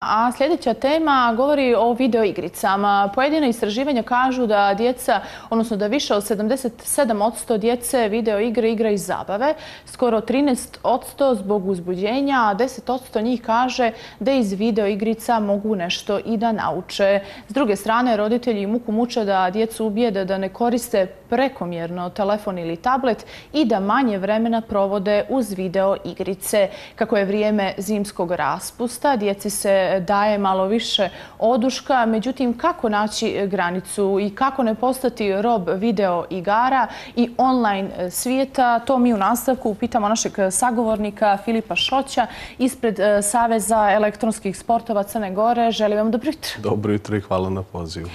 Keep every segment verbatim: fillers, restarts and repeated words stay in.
A sljedeća tema govori o videoigricama. Pojedina istraživanja kažu da djeca, odnosno da više od sedamdeset sedam posto djece videoigre igra iz zabave, skoro trinaest posto zbog uzbuđenja, a deset posto njih kaže da iz videoigrica mogu nešto i da nauče. S druge strane, roditelji muku muče da djecu ubijede da ne koriste prekomjerno telefon ili tablet i da manje vremena provode uz videoigrice. Kako je vrijeme zimskog raspusta, djeci se daje malo više oduška, međutim kako naći granicu i kako ne postati rob video igara i online svijeta, to mi u nastavku pitamo našeg sagovornika Filipa Šoća ispred Saveza elektronskih sportova Crne Gore. Želim vam dobro jutro. Dobro jutro i hvala na pozivu.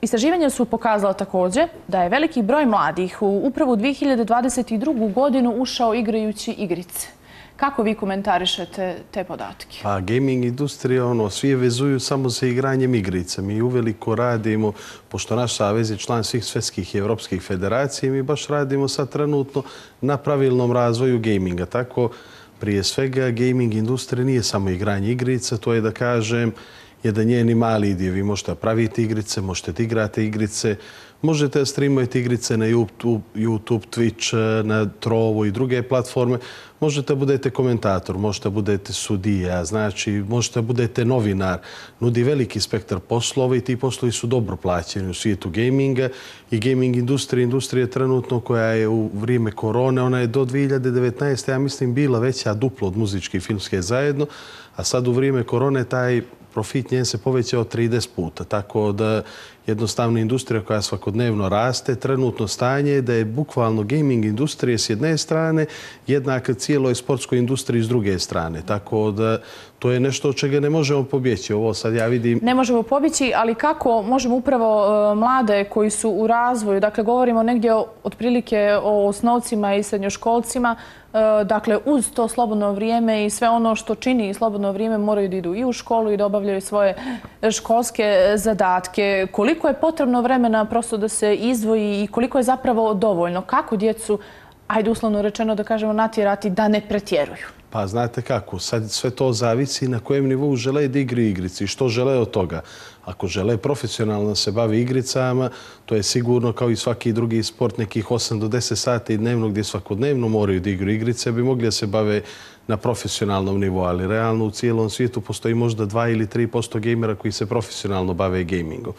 Istraživanja su pokazala također da je veliki broj mladih u upravo dvije hiljade dvadeset drugu. godinu ušao igrajući igrice. Kako vi komentarišete te podatke? Pa gaming industrija, ono, svi je vezuju samo sa igranjem igrice. Mi uveliko radimo, pošto naš savez je član svih svjetskih i evropskih federacija, mi baš radimo sad trenutno na pravilnom razvoju gaminga. Tako, prije svega, gaming industrija nije samo igranje igrica, to je da kažem jedan njeni mali dio. Vi možete praviti igrice, možete igrati igrice, možete streamati igrice na YouTube, YouTube, Twitch, na Trovo i druge platforme. Možete budete komentator, možete budete sudija, znači možete budete novinar. Nudi veliki spektar poslova i ti poslovi su dobro plaćeni u svijetu gaminga i gaming industrija, industrija trenutno koja je u vrijeme korone, ona je do dvije hiljade devetnaeste. ja mislim bila veća duplo od muzičke i filmske zajedno, a sad u vrijeme korone taj profit njen se povećao trideset puta. Tako da jednostavno industrija koja svakodnevno raste, trenutno stanje je da je bukvalno gaming industrija s jedne strane jednaka cijeloj sportskoj industriji s druge strane. Tako da to je nešto od čega ne možemo pobjeći. Ovo sad ja vidim... Ne možemo pobjeći, ali kako možemo upravo mlade koji su u razvoju, dakle govorimo negdje otprilike o osnovcima i srednjoškolcima, dakle uz to slobodno vrijeme i sve ono što čini slobodno vrijeme moraju da idu i u školu i da obavljaju svoje školske zadatke. Koliko je potrebno vremena prosto da se izdvoji i koliko je zapravo dovoljno? Kako djecu, ajde uslovno rečeno da kažemo, natjerati da ne pretjeruju? Pa znate kako, sad sve to zavisi na kojem nivou žele da igri igrici i što žele od toga. Ako žele profesionalno se bavi igricama, to je sigurno kao i svaki drugi sport nekih osam do deset sati dnevno gdje svakodnevno moraju da igru igrice, bi mogli da se bave na profesionalnom nivou, ali realno u cijelom svijetu postoji možda dva ili tri posto gejmera koji se profesionalno bave gamingom.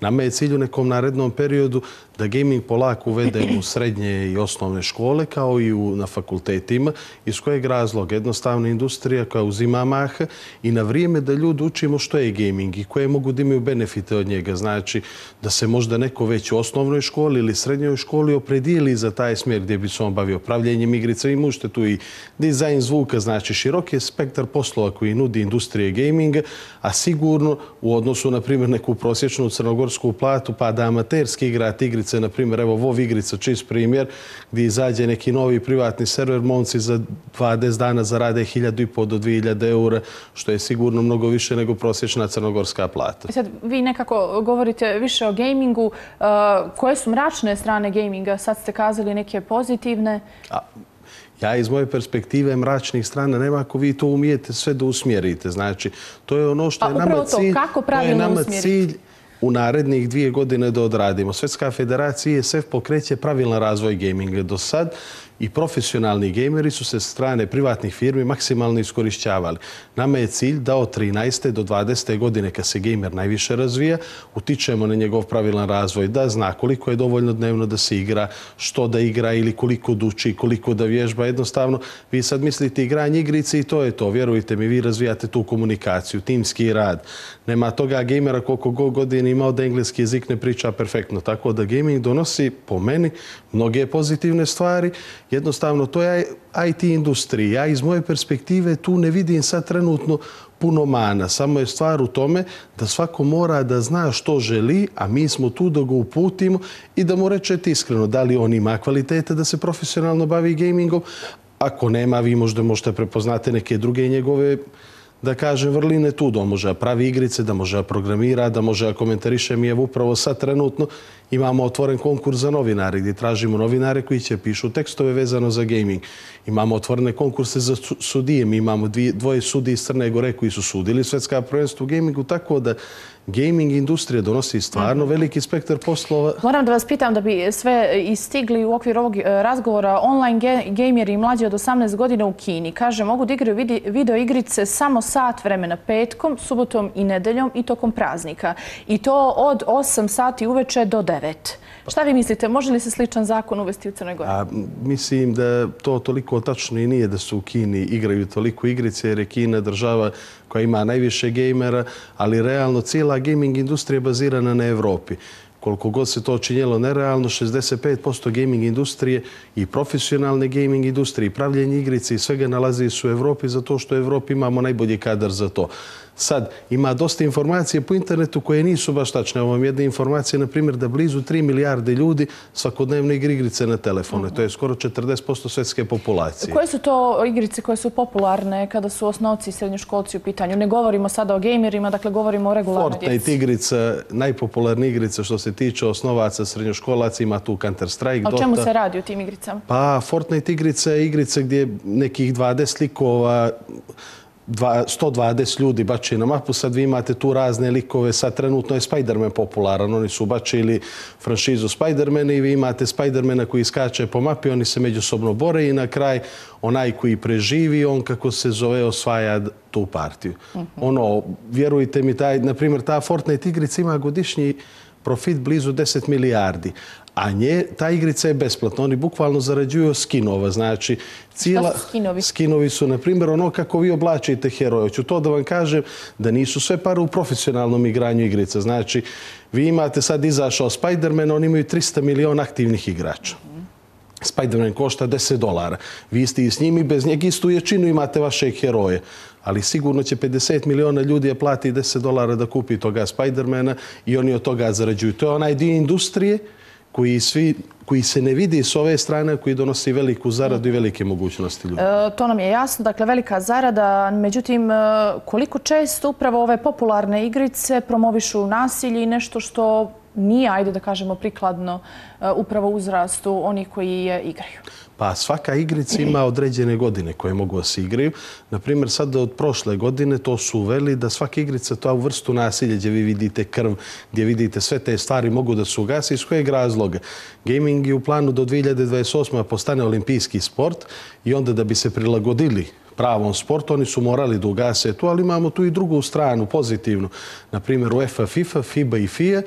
Nama je cilj u nekom narednom periodu da gaming polako uvedemo u srednje i osnovne škole kao i u, na fakultetima. Iz kojeg razloga? Jednostavna industrija koja uzima maha i na vrijeme da ljudi učimo što je gaming i koje mogu da imaju benefite od njega. Znači da se možda neko već u osnovnoj školi ili srednjoj školi opredijeli za taj smjer gdje bi se on bavio pravljenjem igrica i možete tu i dizajn zvuka. Znači širok je spektar poslova koji nudi industrije gaminga, a sigurno u odnosu na primjer neku prosječnu crnogorsku platu pa da amaterski igrati igrice, na primjer evo WoW igrica, čist primjer, gdje izađe neki novi privatni server, momci za dvadeset dana zarade hiljadu i po do dvije hiljade eura, što je sigurno mnogo više nego prosječna crnogorska plata. Sad vi nekako govorite više o gamingu. Koje su mračne strane gaminga? Sad ste kazali neke pozitivne. A, Ja iz moje perspektive mračnih strana nema ako vi to umijete sve da usmjerite. Znači, to je ono što je nama cilj, to je nama cilj u narednih dvije godine da odradimo. Svjetska federacija I S F pokreće pravilan razvoj gaminga. Do sad i profesionalni gejmeri su se s strane privatnih firmi maksimalno iskorišćavali. Nama je cilj da od trinaeste do dvadesete godine, kad se gejmer najviše razvija, utičemo na njegov pravilan razvoj, da zna koliko je dovoljno dnevno da se igra, što da igra ili koliko da uči, koliko da vježba. Jednostavno, vi sad mislite igranje igrice i to je to. Vjerujte mi, vi razvijate tu komunikaciju, timski rad. Nema toga gejmera koliko god godina imao da engleski jezik ne priča perfektno. Tako da gaming donosi, po meni, mnoge pozitivne stvari. Jednostavno, to je I T industrija. Ja iz moje perspektive tu ne vidim sad trenutno puno mana. Samo je stvar u tome da svako mora da zna što želi, a mi smo tu da ga uputimo i da mu rečete iskreno da li on ima kvalitete da se profesionalno bavi gamingom. Ako nema, vi možda možete prepoznate neke druge njegove da kaže vrline tu, da on može pravi igrice, da može programira, da može komentariše. Mi je upravo sad trenutno imamo otvoren konkurs za novinare gdje tražimo novinare koji će pišu tekstove vezano za gaming. Imamo otvorene konkurse za sudije. Mi imamo dvoje sudije iz Crne Gore koji su sudili svjetska prvenstva u gamingu, tako da gaming industrija donosi stvarno veliki spektar poslova. Moram da vas pitam da bi sve istigli u okviru ovog razgovora. Online gameri mlađi od osamnaest godina u Kini, kaže, mogu da igraju video igrice samo sat vremena petkom, subotom i nedeljom i tokom praznika. I to od osam sati uveče do devet. Šta vi mislite, može li se sličan zakon uvesti u Crnoj Gori? A, mislim da to toliko tačno i nije da su u Kini igraju toliko igrice, jer je Kina država koja ima najviše gejmera, ali realno cijela gaming industrija je bazirana na Evropi. Koliko god se to činjelo nerealno, šezdeset pet posto gaming industrije i profesionalne gaming industrije i pravljenje igrice i svega nalazi se u Evropi zato što u Evropi imamo najbolji kadar za to. Sad, ima dosta informacije po internetu koje nisu baš tačne. Ovo vam jedna informacija, na primjer, da blizu tri milijarde ljudi svakodnevno igra igrice na telefone. To je skoro četrdeset posto svjetske populacije. Koje su to igrice koje su popularne kada su osnovci i srednjoškolci u pitanju? Ne govorimo sada o gamerima, dakle govorimo o regularnoj djeci. Fortnite igrica, najpopularnija igrica što se tiče osnovaca srednjoškolaca, ima tu Counter-Strike, Dota. O čemu se radi u tim igricama? Pa, Fortnite igrica je igrica gdje nekih dvadeset likova, sto dvadeset ljudi bače na mapu, sad vi imate tu razne likove, sad trenutno je Spider-Man popularan, oni su bačili franšizu Spider-Man i vi imate Spider-mana koji skače po mapi, oni se međusobno bore i na kraj onaj koji preživi, on kako se zove osvaja tu partiju. Ono, vjerujte mi, taj, na primjer, ta Fortnite igrica ima godišnji profit blizu deset milijardi. A nje, ta igrica je besplatna. Oni bukvalno zarađuju skinova. Znači, cijela... Šta su skinovi? Skinovi su, na primjer, ono kako vi oblačite heroje. Hoću to da vam kažem da nisu sve pare u profesionalnom igranju igrica. Znači, vi imate sad izašao Spider-Man, oni imaju trista miliona aktivnih igrača. Spider-Man košta deset dolara. Vi ste i s njim i bez njega istu jačinu imate vaše heroje. Ali sigurno će pedeset miliona ljudi je plati deset dolara da kupi toga Spider-mana i oni od toga zarađuju. To je onaj dio industrije koji, svi, koji se ne vidi s ove strane, koji donosi veliku zaradu i velike mogućnosti ljudi. E, to nam je jasno, dakle velika zarada. Međutim, koliko često upravo ove popularne igrice promovišu nasilje i nešto što nije, ajde da kažemo, prikladno upravo uzrastu onih koji je igraju? Pa svaka igrica ima određene godine koje mogu da se igraju. Naprimjer, sad od prošle godine to su uveli da svaka igrica to vrstu nasilja gdje vi vidite krv, gdje vidite sve te stvari mogu da se ugasi. Iz kojeg razloga? Gaming je u planu do dvije hiljade dvadeset osme postane olimpijski sport i onda da bi se prilagodili pravom sportu, oni su morali da ugase tu, ali imamo tu i drugu stranu, pozitivnu. Naprimjer, UEFA, FIFA, FIBA i FIA,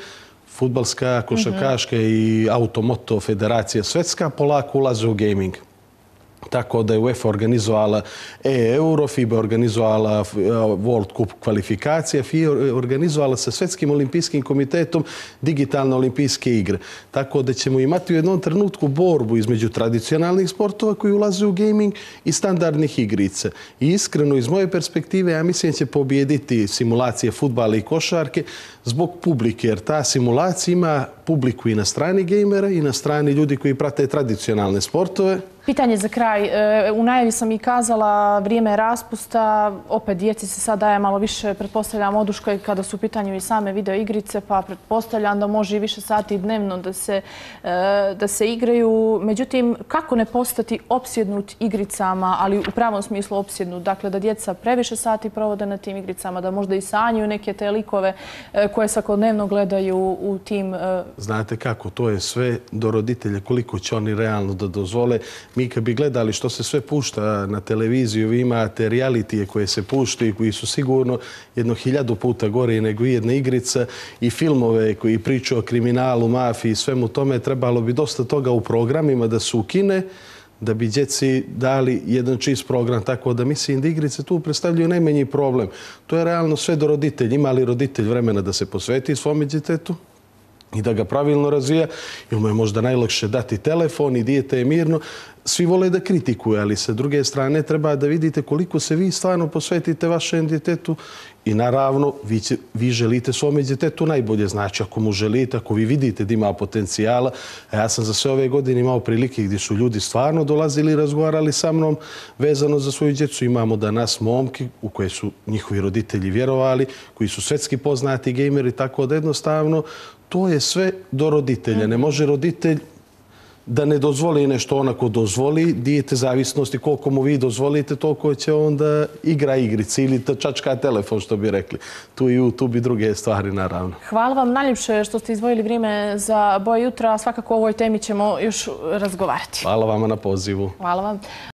fudbalska, košarkaška i automoto federacija svetska polako ulaze u gaming. Tako da je UEFA organizovala e-Euro, FIBA organizovala World Cup kvalifikacije, FIA organizovala sa Svetskim olimpijskim komitetom digitalne olimpijske igre. Tako da ćemo imati u jednom trenutku borbu između tradicionalnih sportova koji ulaze u gaming i standardnih igrica. I iskreno, iz moje perspektive, ja mislim da će pobijediti simulacije fudbala i košarke zbog publike, jer ta simulacija ima publiku i na strani gejmera i na strani ljudi koji prate tradicionalne sportove. Pitanje za kraj. U najavi sam i kazala vrijeme raspusta. Opet djeci se sad daje malo više, pretpostavljam, oduška kada su u pitanju i same video igrice, pa pretpostavljam da može i više sati dnevno da se, da se igraju. Međutim, kako ne postati opsjednut igricama, ali u pravom smislu opsjednut? Dakle, da djeca previše sati provode na tim igricama, da možda i sanjaju neke te likove koje svakodnevno gledaju u tim... Znate kako, to je sve do roditelja, koliko će oni realno da dozvole. Mi kad bi gledali što se sve pušta na televiziju, vi imate realitije koje se puštaju, koji su sigurno jedno hiljadu puta gore nego jedna igrica i filmove koji pričaju o kriminalu, mafiji i svemu tome, trebalo bi dosta toga u programima da se ukine, da bi djeci dali jedan čist program. Tako da mislim da igrice tu predstavljaju najmanji problem. To je realno sve do roditelja. Ima li roditelj vremena da se posveti svome djetetu i da ga pravilno razvija, ili mu je možda najlakše dati telefon i dijete je mirno. svi vole da kritikuju, ali sa druge strane treba da vidite koliko se vi stvarno posvetite vašem djetetu i naravno vi, će, vi želite svome djetetu najbolje. Znači ako mu želite, ako vi vidite da ima potencijala, a ja sam za sve ove godine imao prilike gdje su ljudi stvarno dolazili i razgovarali sa mnom vezano za svoju djecu. Imamo danas momke u koje su njihovi roditelji vjerovali, koji su svjetski poznati gejmeri, tako da jednostavno to je sve do roditelja. Ne može roditelj da ne dozvoli nešto onako dozvoli, dijete zavisnosti koliko mu vi dozvolite, toliko će onda igra igrici ili čačka telefon, što bi rekli. Tu i YouTube i druge stvari, naravno. Hvala vam najljepše što ste izdvojili vrijeme za Boje jutra. Svakako o ovoj temi ćemo još razgovarati. Hvala vama na pozivu. Hvala vam.